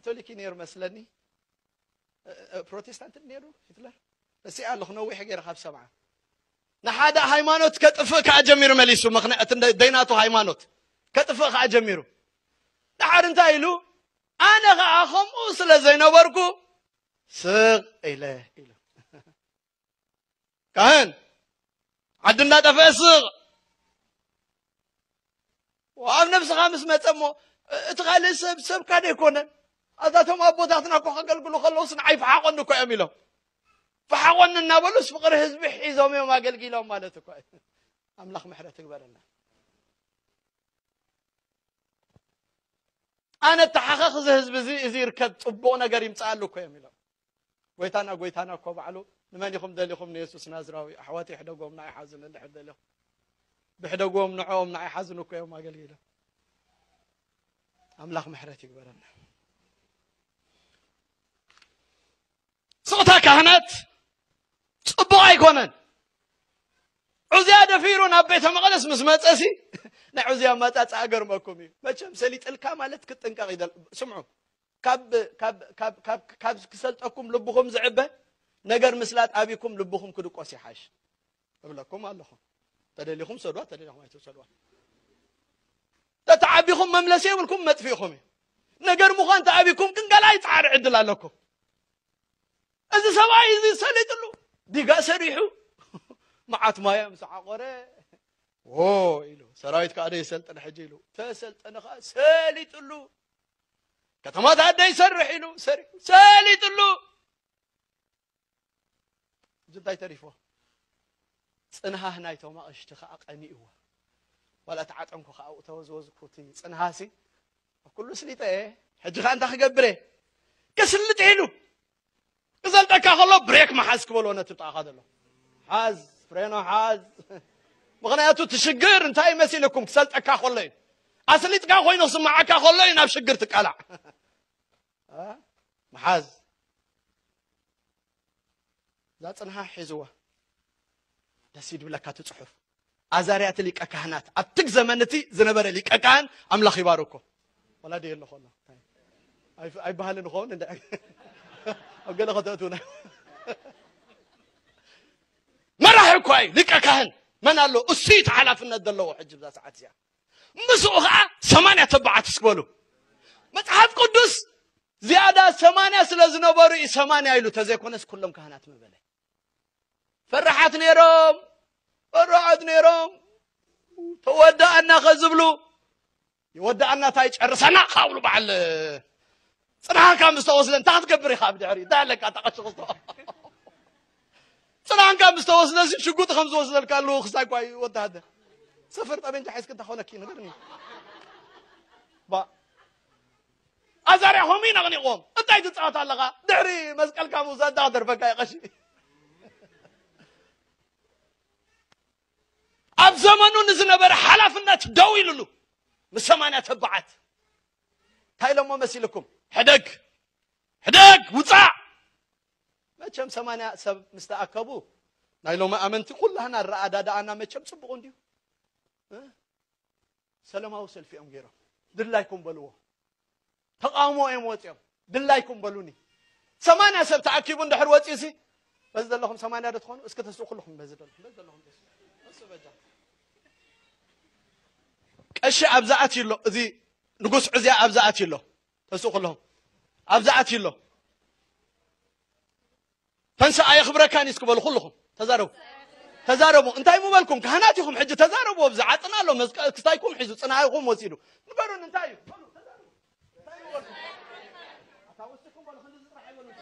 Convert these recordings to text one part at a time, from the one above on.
ካቶሊክ እዩ ነይሩ መስለኒ። እ፣ እ፣ ፕሮቴስታንት ነይሩ ሂትለር። ረሲዐ ኣለኹ፣ ነዊሕ ገይረ ካብ ሰምዓ። ንሓደ ሃይማኖት ከጥፍእ ከኣ ጀሚሩ መሊሱ፣ ምኽንያት እንደ-፣ ደይናቱ ሃይማኖት ከጥፍእ ከኣ ጀሚሩ። ደሓር እንታይ ኢሉ? ኣነ ኸኣ ከምኡ ስለ ዘይነበርኩ ስቕ ኢለ ኢሉ። ካህን ዓዲ እንዳጠፍአ ስቕ። ኣብ ነብስኻ ምስ መጸ እሞ፣ እቲ ካልእ ሰብ ሰብካ ዶ ኣይኮነን? ኣዛቶም ኣቦታትና እኮ ከገልግሉ ከለውስ ንዓይ ፈሓቆኒ እኮ እዮም ኢሎም። ፈሓቆኒ እናበሉስ ፍቕሪ ህዝቢ ሒዞም እዮም ኣገልጊሎም ማለት እኮ እዩ። ኣምላኽ ምሕረት ይግበረልና። ኣነ ተሓኸኽ እዚ ህዝቢ እዚ፣ እዚ ይርከብ፣ ጽቡቕ ነገር ይምጽኣሉ እኮ እዮም ኢሎም። ጎይታና፣ ጎይታና እኮ ባዕሉ፣ "ንመን ኢኹም ደሊኹም? ንየሱስ ናዝራዊ። ኣሕዋተይ ሕደጎም፣ ንዓይ ሓዝኑ እንድሕር ደሊኹም." ብሕደጎም ንዕኦም ንዓይ ሓዝኑ እኮ እዮም ኣገልጊሎም። ኣምላኽ ምሕረት ይግበረና። ስቕታ ካህናት ጽቡቕ ኣይኮነን። ዑዝያ ደፊሩ ናብ ቤተ መቕደስ ምስ መጸሲ፣ ናይ ዑዝያ ኣመጻጽኣ ገርመኩም እዩ። መቸም ሰሊጥልካ ማለት ክትጥንቀቕ ይደል-፣ ስምዑ። ካብ፣ ካብ፣ ካብ፣ ካብ፣ ካብ ክሰልጠኩም ልብኹም ዝዕበ ነገር ምስላጥ ኣቢኩም ልብኹም ክድቆስ ይሓሽ እብለኩም ኣለኹ። ተደሊኹም ሰድዋ፣ ተደሊኹም ኣይትሰድዋ። ተተዓቢኹም መምለሲ የብልኩም፣ መጥፊእኹም እዩ። ነገር ምዃን ተኣቢኩም ግን ገለ ኣይጸዓር ዕድል ኣለኩም። እዚ ሰብኣይ እዚ ሰሊጥሉ ዲጋ ሰሪሑ መዓት ማያ ምስ ዓቆረ፣ "ዎ" ኢሉ፣ "ሰራዊት ከኣ ዶ ይሰልጥን ሕጂ?" ኢሉ፣ ተሰልጠነ ከኣ ሰሊጥሉ፣ "ከተማታት ዶ ይሰርሕ?" ኢሉ፣ ሰሪሑ፣ ሰሊጥሉ። እዚ እንታይ ተሪፎ? ጽንሃህ ናይቶም ኣቕሽቲ ከኣ ቀኒእዎ። ዋላ እቲ ዓጠንኩ ከኣ ኣብኡ ተወዝወዝኩ፣ እቲ ጽንሃሲ ኣብ ኩሉ ስሊጠ እየ። ሕጂ ከኣ እንታይ ክገብር እየ? ክስልጥ ኢሉ። ክሰልጠካ ከሎ ብሬክ መሓዝ ክበሎ ነቲ ብጣዕኻ ዘሎ። ሓዝ፣ ፍሬኖ ሓዝ። ምኽንያቱ እቲ ሽግር እንታይ መሲልኩም? ክሰልጠካ ከሎ እዩ። ኣስሊጥካ ኮይኑ ክስምዓካ ከሎ እዩ ናብ ሽግር ትቃላዕ። እ? መሓዝ። እዛ ጽንሃ ሒዝዋ። ደስ ይድብለካ እቲ ጽሑፍ። ኣዛርያ እቲ ሊቀ ካህናት፣ ኣብቲ ዘመን እቲ ዝነበረ ሊቀ ካህን ኣምላኽ ይባርኮ። ወላ ድየ ኣለኹ ኣሎ። ኣይ-፣ ኣይበሃልን ይኸውን እንደ ኣብ ገለ ከተእትውና። መራሒ እኳ እዩ ሊቀ ካህን። መን ኣሎ? እሱ እዩ እቲ ሓላፍነት ዘለዎ ሕጂ ብዛ ሰዓት እዚኣ። ምስኡ ኸዓ ሰማንያ ተባዓት እስክበሉ። መጽሓፍ ቅዱስ ዝያዳ ሰማንያ ስለ ዝነበሩ እዩ ሰማንያ ኢሉ፣ ተዘይኮነስ ኩሎም ካህናት ምበለ። ፈራሓት ነይሮም፣ ፈራሓት ነይሮም። ተወዳእና ከዝብሉ፣ ይወዳእና እንታይ ጨርሰና ካብሉ በዓል ጽንሃካ ምስ ተወስደ እንታይ ክትገብር ኢኻ? ኣብ ድሕሪ እንታይ ኣለካ? ተቐሽቕስቶ ጽንሃንካ ምስ ተወስደ እዚ ሽጉጥ ከም ዝወስደልካ ኣለዎ። ክሳይ እኳ እዩ ወታሃደር። ሰፈር ጠመንጃ ሒዝክ እንታይ ኾነኪ? ንገርኒ። ባ-፣ ኣዛርያ ኾም እዩ ነቕኒቕዎም። እንታይ ትጻወት ኣለኻ? ድሕሪ መስቀልካ ምውሳድ እንታይ ክተርፈካ እዩ ቀሺ? ኣብ ዘመኑ ንዝነበረ ሓላፍነት ደው ኢሉሉ ምስ ሰማንያ ተባዓት እንታይ ኢሎሞ መሲልኩም? ሕደግ፣ ሕደግ፣ ውጻእ። መቸም ሰማንያ ሰብ ምስ ተኣከቡ ናይ ሎሚ ኣመንቲ ኩላህና ኣረኣዳድኣና መቸም ጽቡቕ እንድዩ። እ? ሰላማዊ ሰልፊ እዮም ገይሮም። ድላይኩም በልዎ። ተቃውሞ እዮም ወፂኦም። ድላይኩም በሉኒ። ሰማንያ ሰብ ተኣኪቡ እንድሕር ወፂኡሲ፣ በዚ ዘለኹም ሰማንያ ዶ ትኾኑ? እስኪ ተስኡ ኩልኹም በዚ ዘለኹም፣ በዚ ዘለኹም ተስኡ። ተስኡ በጃ። ቀሺ ኣብዛ ኣትዩ ኣሎ፣ እዚ ንጉስ ዑዝያ ኣብዛ ኣትዩ ኣሎ። ተስኡ ኩልኹም። ኣብዛ ኣትዩ ኣሎ። ተንስእ ኣየኽብረካን እዩ እስኪ በሉ ኩልኹም። ተዛረቡ። ተዛረቡ። እንታይ ምበልኩም? ካህናት ኢኹም። ሕጂ ተዛረቡ። ኣብዚ ዓጥና ኣሎ። መዝቀ-፣ ክስታይኩም ሒዙ፣ ጽንሃይኩም ወሲዱ። ንገሩኒ እንታይ እዩ? በሉ፣ ተዛረቡ። እንታይ ምበልኩም? ኣታ ወስድኩም በሉ፣ ክንዲ ዝጥራሕ ኣይበሉን።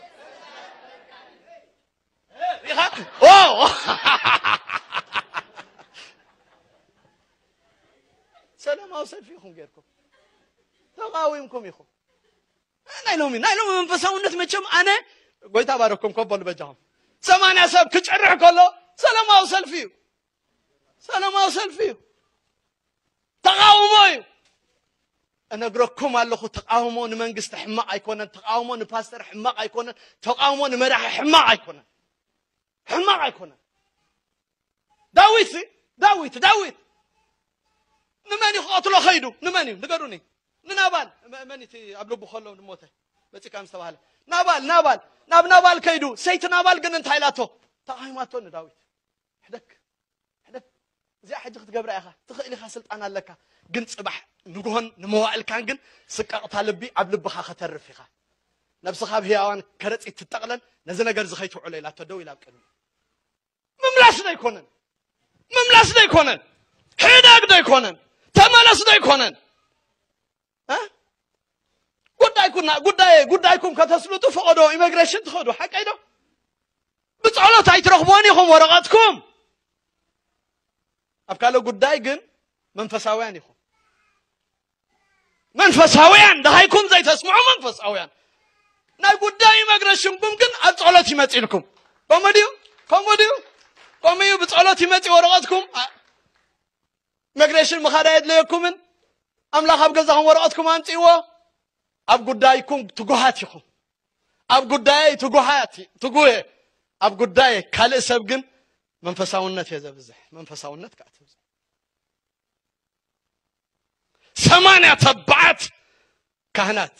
ኢኻ? ኦ! ሰላማዊ ሰልፊ ኢኹም ጌርኩም። ተቃዊምኩም ኢኹም። ናይ ሎሚ፣ ናይ ሎሚ መንፈሳውነት መቸም ኣነ ጎይታ ባረኩም ኮበሉ በጃኹም። ሰማንያ ሰብ ክጭርሕ ከሎ ሰላማዊ ሰልፊ እዩ። ሰላማዊ ሰልፊ እዩ። ተቃውሞ እዩ። እነግረኩም ኣለኹ፣ ተቃውሞ ንመንግስቲ ሕማቕ ኣይኮነን፣ ተቃውሞ ንፓስተር ሕማቕ ኣይኮነን፣ ተቃውሞ ንመራሒ ሕማቕ ኣይኮነን። ሕማቕ ኣይኮነን። ዳዊት ሲ፣ ዳዊት፣ ዳዊት ንመን እዩ ክቐትሎ ኸይዱ? ንመን እዩ? ንገሩኒ። ንናባል። መ-፣ መን እቲ ኣብ ልቡ ከሎ ንሞተ? መጺካ ምስ ተባህለ፣ ናባል፣ ናባል፣ ናብ ናባል ከይዱ፣ ሰይቲ ናባል ግን እንታይ ኢላቶ? ተቓዊማቶ ንዳዊት። ሕደግ፣ ሕደግ። እዚኣ ሕጂ ክትገብራ ኢኻ። ትኽእል ኢኻ፣ ስልጣን ኣለካ። ግን ጽባሕ ንግሆን ንመዋእልካን ግን ስቃቕታ ልቢ ኣብ ልብኻ ከተርፍ ኢኻ። ነብስኻ ኣብ ህያዋን ከረጺት ትጠቕለል፣ ነዚ ነገር እዚ ከይትውዕሎ ኢላቶ ደው ኢላ ኣብ ቅድሚ። ምምላስ ዶ ኣይኮነን? ምምላስ ዶ ኣይኮነን? ሕደግ ዶ ኣይኮነን? ተመለስ ዶ ኣይኮነን? እ? ጉዳይኩና፣ ጉዳይ፣ ጉዳይኩም ከተስልጡ ፈቐዶ ኢሚግሬሽን ትኸዱ፣ ሓቀይ ዶ? ብጸሎት ኣይትረኽቦን ኢኹም ወረቐትኩም። ኣብ ካልእ ጉዳይ ግን መንፈሳውያን ኢኹም። መንፈሳውያን፣ ደሃይኩም ዘይተስምዑ መንፈሳውያን። ናይ ጉዳይ ኢሚግሬሽንኩም ግን ኣብ ጸሎት ይመጽእልኩም። ከምኡ ድዩ? ከምኡ ድዩ? ከምኡ እዩ፣ ብጸሎት ይመጽእ ወረቐትኩም። አ-፣ ኢሚግሬሽን ምኻድ ኣየድለየኩምን። ኣምላኽ ኣብ ገዛኹም ወረቐትኩም ኣምጽእዎ። ኣብ ጉዳይኩም ትጉሃት ኢኹም። ኣብ ጉዳየይ ትጉሃት፣ ትጉህ። ኣብ ጉዳይ ካልእ ሰብ ግን መንፈሳውነት እየ ዘብዝሕ። መንፈሳውነት ከኣ ትብዝሕ። ሰማንያ ተባዓት ካህናት፣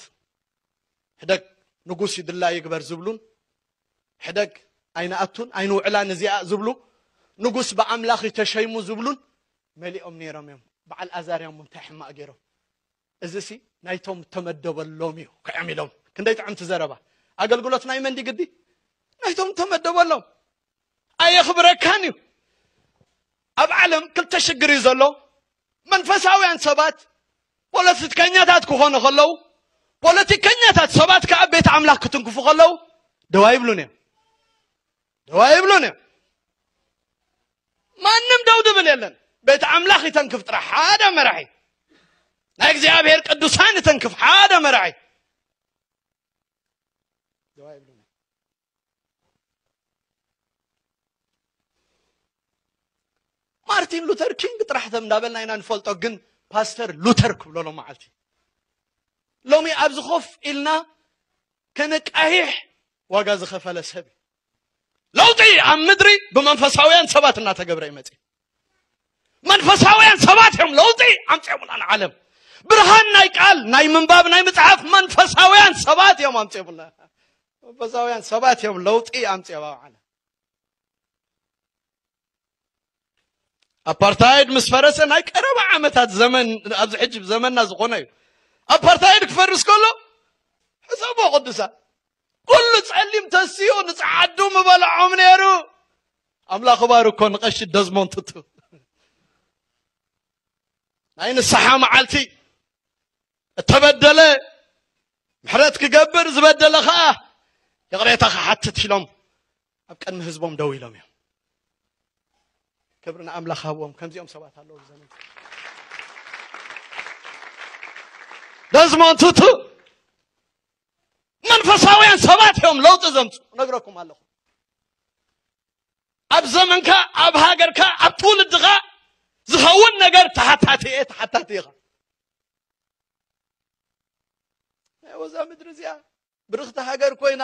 ሕደግ ንጉስ ይድላ ይግበር ዝብሉን፣ ሕደግ ኣይንኣቱን ኣይንውዕላን እዚኣ ዝብሉ፣ ንጉስ ብኣምላኽ እዩ ተሸይሙ ዝብሉን መሊኦም ነይሮም እዮም። በዓል ኣዛርያ እሞ እንታይ ሕማቕ ገይሮም? እዚሲ ናይቶም ተመደበሎም እዩ፣ ክዕም ኢሎም። ክንደይ ጥዕምቲ ዘረባ። ኣገልግሎት ናይ መን ድዩ ግዲ? ናይቶም ተመደበሎም። ኣየኽብረካን እዩ። ኣብ ዓለም ክልተ ሽግር እዩ ዘሎ። መንፈሳውያን ሰባት ፖለቲከኛታት ክኾኑ ከለዉ፣ ፖለቲከኛታት ሰባት ከኣ ቤት ኣምላኽ ክትንክፉ ከለዉ ደው ኣይብሉን እዮም። ደው ኣይብሉን እዮም። ማንም ደው ድብል የለን። ቤት ኣምላኽ ይተንክፍ ጥራሕ ሓደ መራሒ። ናይ እግዚኣብሔር ቅዱሳን ይተንክፍ ሓደ መራሒ። ደው ኣይብሉን እዮም። ማርቲን ሉተር ኪንግ ጥራሕ ተም እንዳበልና ኢና ንፈልጦ፣ ግን ፓስተር ሉተር ክብሎ ሎ መዓልቲ ሎሚ ኣብዚ ኮፍ ኢልና ከነቃሂሕ ዋጋ ዝኸፈለ ሰብ እዩ። ለውጢ ኣብ ምድሪ ብመንፈሳውያን ሰባት እናተገብረ ይመጽእ። መንፈሳውያን ሰባት እዮም ለውጢ ኣምጺኦምላ ንዓለም። ብርሃን ናይ ቃል፣ ናይ ምንባብ፣ ናይ ምጽሓፍ መንፈሳውያን ሰባት እዮም ኣምጺኦምላ። መንፈሳውያን ሰባት እዮም ለውጢ ኣምጺኦም ኣብ ዓለም። ኣፓርታይድ ምስ ፈረሰ ናይ ቀረባ ዓመታት ዘመን፣ ኣብዚ ሕጂ ዘመንና ዝኾነ እዩ። ኣፓርታይድ ክፈርስ ከሎ ሕሰቦ ቅዱሳን፣ ኩሉ ጸሊም ተስኡ ንጸዓዱ ምበልዖም ነይሩ። ኣምላኽ ባርኮ ንቀሺ ደዝሞንድ ቱቱ ናይ ንስሓ መዓልቲ፣ እተበደለ ምሕረት ክገብር፣ ዝበደለ ኸኣ ይቕሬታ ክሓትት ኢሎም ኣብ ቅድሚ ህዝቦም ደው ኢሎም እዮም። ክብሪ ንኣምላኽ ሃብዎም። ከምዚኦም ሰባት ኣለዉ ብዘመን ደዝሞንድ ቱቱ። መንፈሳውያን ሰባት እዮም ለውጢ ዘምጹ፣ ነግረኩም ኣለኹ። ኣብ ዘመንካ፣ ኣብ ሃገርካ፣ ኣብ ትውልድኻ ዝኸውን ነገር ተሓታቲ እየ፣ ተሓታቲ ኢኻ። ናይ ወዛ ምድሪ እዚኣ ብርኽቲ ሃገር ኮይና፣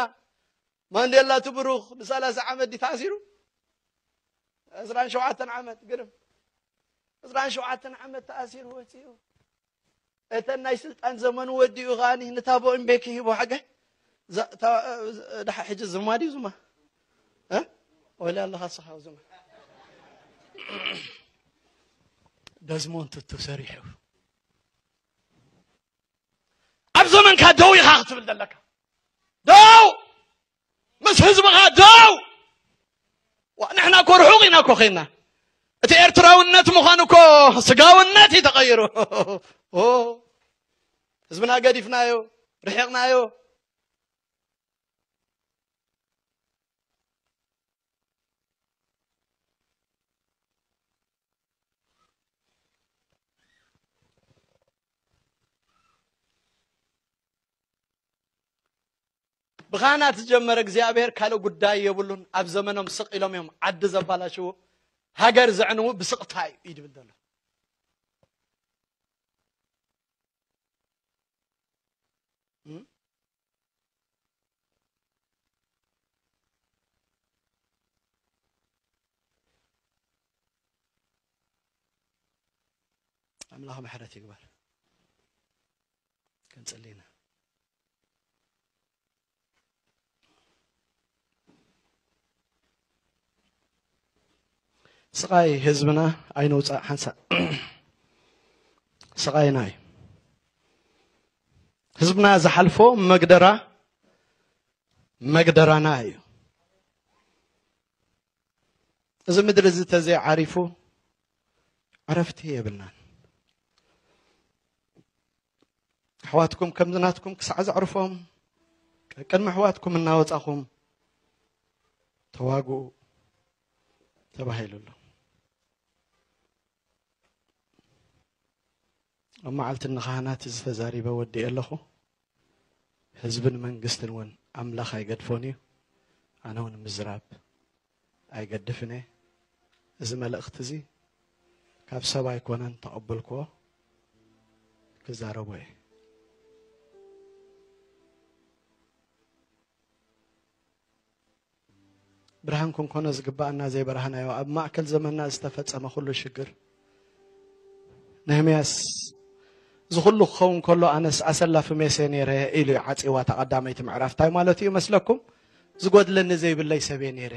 ማንዴላ እቲ ብሩኽ ንሰላሳ ዓመት ድዩ ተኣሲሩ? ዕስራን ሸውዓተን ዓመት፣ ግርም። ዕስራን ሸውዓተን ዓመት ተኣሲሩ ወጺኡ። እተን ናይ ስልጣን ዘመኑ ወዲኡ ከኣ ንታቦ እምቤኪ ሂቦ ሓገ። ዛ-፣ ታ-፣ ደሓ ሕጂ ዝማ ድዩ ዝማ? እ? ወላ ኣለኻ ስኻ ዝማ። ደዝሞንድ ቱቱ ሰሪሑ። ኣብ ዘመንካ ደው ኢኻ ክትብል ዘለካ። ደው! ምስ ህዝብኻ ደው! ዋ፣ ንሕና እኮ ርሑቕ ኢና እኮ ኸይና። እቲ ኤርትራውነት ምዃኑ እኮ ስጋውነት እዩ ተቐይሩ። ኦ፣ ህዝብና ገዲፍናዮ፣ ርሒቕናዮ። ብኻህናት ዝጀመረ እግዚኣብሔር ካልእ ጉዳይ የብሉን። ኣብ ዘመኖም ስቕ ኢሎም እዮም ዓዲ ዘባላሽዉ፣ ሃገር ዘዕንዉ ብስቕታ እዩ እዩ ድብል ዘሎ። እም? ኣምላኽ ምሕረት ይግበር። ክንጽሊ ኢና። ስቓይ ህዝብና ኣይንውፃእ ሓንሳእ። ስቓይና እዩ። ህዝብና ዝሓልፎ መግደራ መግደራና እዩ። እዚ ምድሪ እዚ ተዘይዓሪፉ ዕረፍቲ የብልናን። ኣሕዋትኩም ከምዚ ናትኩም ክሳዕ ዘዕርፎም፣ ቀቅድሚ ኣሕዋትኩም እናወጻኹም ተዋግኡ ተባሂሉ ኣሎ። ኣብ መዓልቲ ንኻህናት እዚ ተዛሪበ ወዲኤ ኣለኹ። ህዝብን መንግስትን እውን ኣምላኽ ኣይገድፎን እዩ። ኣነ እውን ምዝራብ ኣይገድፍን እየ። እዚ መልእኽቲ እዚ ካብ ሰብ ኣይኮነን ተቐበልክዎ፣ ክዛረቦ እየ። ብርሃን ክንኮኖ ዝግባኣና ዘይበራህናዮ፣ ኣብ ማእከል ዘመንና ዝተፈጸመ ኩሉ ሽግር። ነህምያስ፣ እዚ ኩሉ ክኸውን ከሎ ኣነስ ኣሰላፊ ሜሴ ነይረ ኢሉ እዩ ዓጺዋ እታ ቀዳመይቲ ምዕራፍ። እንታይ ማለት እዩ መስለኩም? ዝጎድለኒ ዘይብለይ ሰብ እየ ነይረ።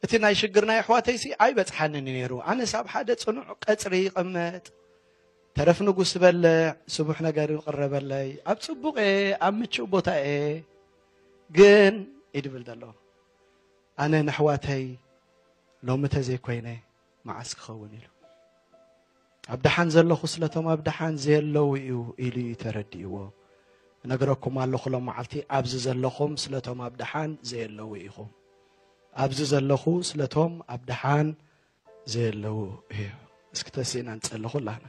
እቲ ናይ ሽግር ናይ ኣሕዋተይሲ ኣይበጽሓንን እዩ ነይሩ። ኣነስ ኣብ ሓደ ጽኑዕ ቀጽሪ ይቕመጥ፣ ተረፍ ንጉስ ዝበልዕ፣ ስቡሕ ነገር ይቕረበለይ፣ ኣብ ጽቡቕ እየ፣ ኣብ ምቹእ ቦታ እየ። ግን እዩ ድብል ዘሎ፣ ኣነ ንኣሕዋተይ ሎሚ ተዘይኮይነ መዓስ ክኸውን ኢሉ። ኣብ ደሓን ዘለኹ ስለቶም ኣብ ደሓን ዘየለዉ እዩ ኢሉ እዩ ተረዲእዎ። እነግረኩም ኣለኹ ሎም መዓልቲ ኣብዚ ዘለኹም ስለቶም ኣብ ደሓን ዘየለዉ ኢኹም። ኣብዚ ዘለኹ ስለቶም ኣብ ደሓን ዘየለዉ እዩ። እስኪ ተሲእና ንጸሊ ኩላህና።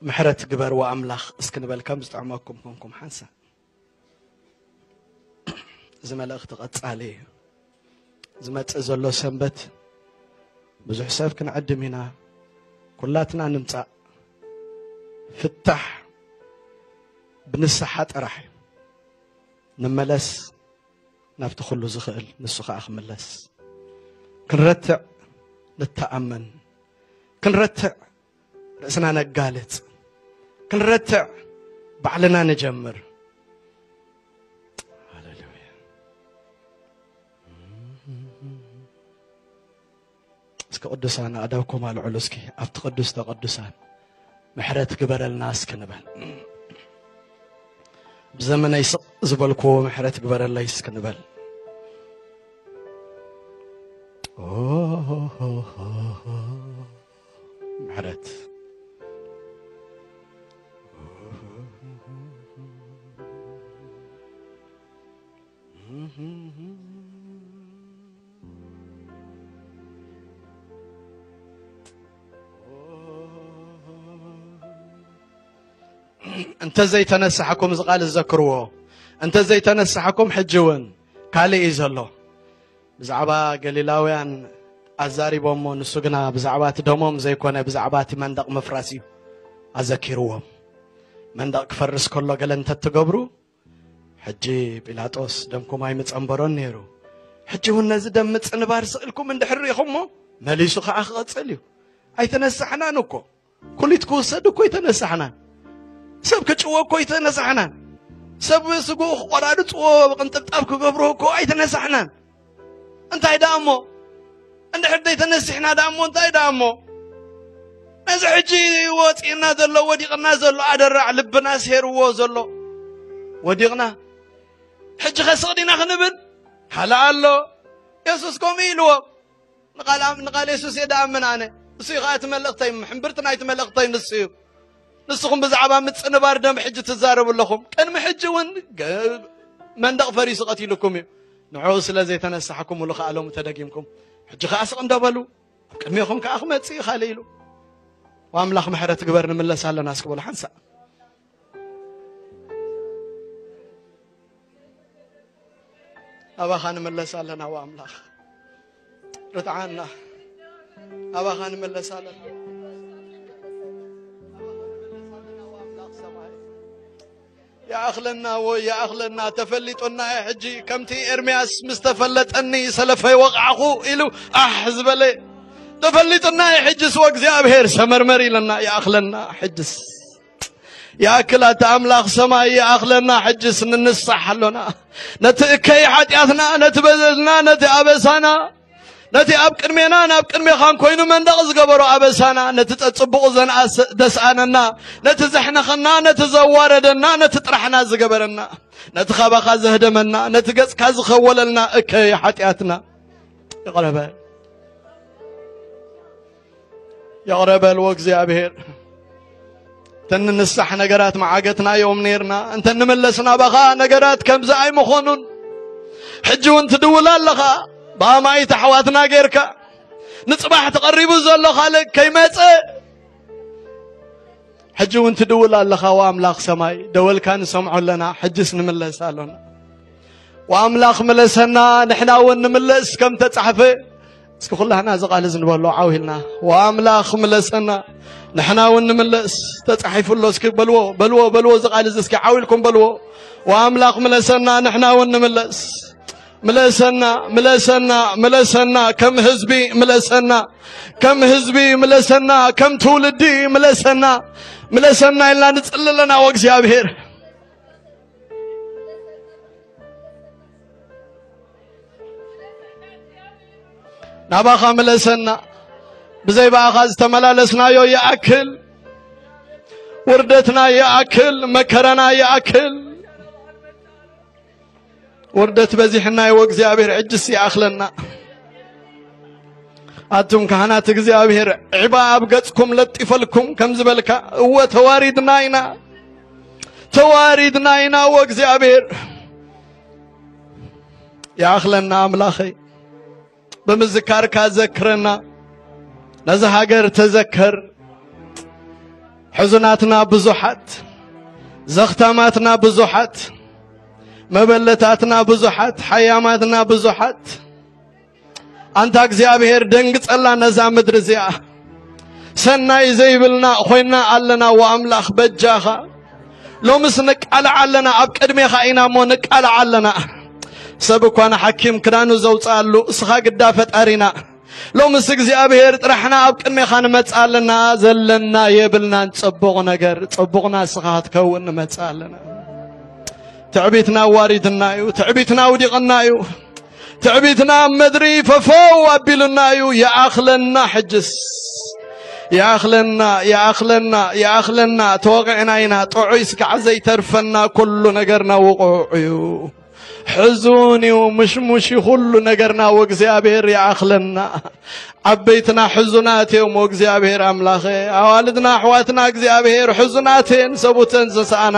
ምሕረት ግበር ወኣምላኽ እስኪ ንበል ከም ዝጥዕመኩም ኮንኩም ሓንሳእ። እዚ መልእኽቲ ቀጻሊ እዩ። ዝመጽእ ዘሎ ሰንበት ብዙሕ ሰብ ክንዕድም ኢና። ኩላትና ንምጻእ። ፍታሕ ብንስሓ ጥራሕ እዩ። ንመለስ ናብቲ ኩሉ ዝኽእል ንሱ ኸኣ ክምለስ። ክንረትዕ ንተኣመን። ክንረትዕ ርእስና ነጋልጽ። ክንረትዕ ባዕልና ንጀምር። ሃሌሉያ። እስኪ ቅዱሳን ኣእዳውኩም ኣልዕሉ እስኪ ኣብቲ ቅዱስተ ቅዱሳን ምሕረት ግበረልና እስኪ ንበል። ብዘመነይ ስቕ ዝበልክዎ ምሕረት ግበረለይ እስኪ ንበል። ምሕረት። እንተ ዘይተነሳሕኩም፣ እዚ ቃል ዘክርዎ፣ እንተ ዘይተነሳሕኩም፣ ሕጂ እውን ካልእ እዩ ዘሎ። ብዛዕባ ገሊላውያን ኣዛሪቦሞ፣ ንሱ ግና ብዛዕባ እቲ ደሞም ዘይኮነ፣ ብዛዕባ እቲ መንደቕ ምፍራስ እዩ ኣዘኪርዎም። መንደቕ ክፈርስ ከሎ ገለ እንተትገብሩ፣ ሕጂ ጲላጦስ ደምኩም ኣይምጸንበሮን ነይሩ። ሕጂ እውን ነዚ ደም ምጽንባር ስእልኩም እንድሕር ርኢኹሞ፣ መሊሱ ኸዓ ክቐጽል እዩ። ኣይተነሳሕናን እኮ። ኩሊት ክውሰድ እኮ ኣይተነሳሕናን። ሰብ ክጭወ እኮ ኣይተነሳሕናን። ሰብ ስግኡ ክቆራርጽዎ፣ ቅንጥብጣብ ክገብርዎ እኮ ኣይተነሳሕናን። እንታይ ደኣ እሞ? እንድሕር ዘይተነሲሕና ደኣ እሞ እንታይ ደኣ እሞ? ነዚ ሕጂ ወጺእና ዘሎ፣ ወዲቕና ዘሎ ኣደራዕ ልብና ሴርዎ ዘሎ ወዲቕና። ሕጂ ኸ ስቕ ዲና ክንብል? ሃለ ኣሎ። የሱስ ከምኡ ኢልዎ። ንቓል ኣም-፣ ንቓል የሱስ እየ ደኣምን ኣነ። እሱ እዩ ኸኣ እቲ መልእኽተይ፣ ሕምብርቲ ናይቲ መልእኽተይ ንሱ እዩ። ንስኹም ብዛዕባ ምጽንባር ደም ሕጂ ትዛረቡ ኣለኹም። ቅድሚ ሕጂ እውን ገ-፣ መንደቕ ፈሪሱ ቀቲሉኩም እዩ። ንዕኡ ስለ ዘይተነሳሕኩምሉ ኸኣ ሎሚ ተደጊምኩም። ሕጂ ኸኣ ስቕ እንዶ በሉ። ኣብ ቅድሜኹም ከኣ ክመጽእ እዩ ካልእ ኢሉ። ወኣምላኽ ምሕረት ግበር፣ ንምለስ ኣለና እስኪ በሉ ሓንሳእ። ኣባኻ ንምለስ ኣለና ወኣምላኽ። ርትዓና። ኣባኻ ንምለስ ኣለና። ይኣኽለና ወይ ይኣኽለና፣ ተፈሊጡና እዩ ሕጂ። ከምቲ ኤርምያስ "ምስ ተፈለጠኒ ሰለፈይ ወቕዓኹ" ኢሉ ኣሕ ዝበለ፣ ተፈሊጡና እዩ ሕጅስ። ወእግዚኣብሔር ሰመርመር ኢለና፣ ይኣኽለና ሕጅስ። ይኣክል ኣታ ኣምላኽ ሰማይ፣ ይኣኽለና ሕጅስ፣ ንንሳሕ ኣሎና። ነቲ እከይ ሓጢኣትና፣ ነቲ በደልና፣ ነቲ ኣበሳና፣ ነቲ ኣብ ቅድሜና ናብ ቅድሜኻን ኮይኑ መንደቕ ዝገበሮ ኣበሳና፣ ነቲ ጸጽቡቑ ዘንኣስ-፣ ዘስኣነና፣ ነቲ ዘሕነኸና፣ ነቲ ዘዋረደና፣ ነቲ ጥራሕና ዝገበረና፣ ነቲ ካባኻ ዘህደመና፣ ነቲ ገጽካ ዝኸወለልና እከይ ሓጢኣትና ይቕረ በል። ይቕረ በል ወእግዚኣብሔር። እንተ ንንሳሕ ነገራት መዓገትና እዮም ነይርና። እንተ ንመለስ ናባኻ ነገራት ከምዚ ኣይምኾኑን። ሕጂ እውን ትድውል ኣለኻ። ብኣማኢት ኣሕዋትና ጌርካ ንጽባሕ ተቐሪቡ ዘሎ ካልእ ከይመጸ ሕጂ እውን ትድውል ኣለኻ። ወኣምላኽ ሰማይ ደወልካ ንሰምዖ ኣለና። ሕጅስ ንምለስ ኣሎና። ወኣምላኽ ምለሰና፣ ንሕና እውን ንምለስ ከም ተጻሕፈ። እስኪ ኩላህና እዚ ቃል እዚ ንበሎ ዓው ኢልና። ወኣምላኽ ምለሰና፣ ንሕና እውን ንምለስ። ተጻሒፉ ኣሎ። እስኪ በልዎ፣ በልዎ፣ በልዎ፣ እዚ ቃል እዚ እስኪ ዓው ኢልኩም በልዎ። ወኣምላኽ ምለሰና፣ ንሕና እውን ንምለስ። ምለሰና፣ ምለሰና፣ ምለሰና፣ ከም ህዝቢ ምለሰና፣ ከም ህዝቢ ምለሰና፣ ከም ትውልዲ ምለሰና፣ ምለሰና ኢልና ንጽሊ ኣለና። ወእግዚኣብሔር ናባኻ ምለሰና። ብዘይ ብኣኻ ዝተመላለስናዮ ይኣክል፣ ውርደትና ይኣክል፣ መከራና ይኣክል። ውርደት በዚሕና እዩ፣ ወእግዚኣብሔር ሕጅስ ይኣኽለና። ኣቱም ካህናት እግዚኣብሔር፣ ዒባ ኣብ ገጽኩም ለጢፈልኩም ከም ዝበልካ፣ እወ ተዋሪድና ኢና፣ ተዋሪድና ኢና። ወእግዚኣብሔር ይኣኽለና። ኣምላኸይ፣ ብምዝካርካ ዘክረና። ነዛ ሃገር ተዘከር። ሕዙናትና ብዙሓት፣ ዘኽታማትና ብዙሓት፣ መበለታትና ብዙሓት፣ ሓያማትና ብዙሓት። ኣንታ እግዚኣብሔር፣ ደንግጸላ ነዛ ምድሪ እዚኣ። ሰናይ ዘይብልና ኮይና ኣለና። ወኣምላኽ በጃኻ፣ ሎምስ ንቃላዕ ኣለና። ኣብ ቅድሜኻ ኢና እሞ ንቃላዕ ኣለና። ሰብ እኳ ንሓኪም ክዳኑ ዘውፅኣሉ፣ እስኻ ግዳ ፈጣሪና። ሎምስ እግዚኣብሔር ጥራሕና ኣብ ቅድሜኻ ንመጽእ ኣለና። ዘለና የብልናን ጽቡቕ ነገር፣ ጽቡቕና እስኻ ክትከውን ንመጽእ ኣለና። ትዕቢትና ኣዋሪድና እዩ። ትዕቢትና ኣውዲቕና እዩ። ትዕቢትና ኣብ ምድሪ ፈፈው ኣቢሉና እዩ። ይኣኽለና ሕጅስ። ይኣኽለና፣ ይኣኽለና፣ ይኣኽለና። ተወቒዕና ኢና። ጥዑይ ስጋዕ ዘይተርፈና፣ ኩሉ ነገርና ውቑዕ እዩ። ሕዙን እዩ፣ ምሽሙሽ እዩ ኩሉ ነገርና። ወእግዚኣብሔር ይኣኽለና። ዓበይትና ሕዙናት እዮም። ወእግዚኣብሔር ኣምላኸ፣ ኣዋልድና ኣሕዋትና እግዚኣብሔር ሕዙናት እየን፣ ሰቡተን ዝሰኣና።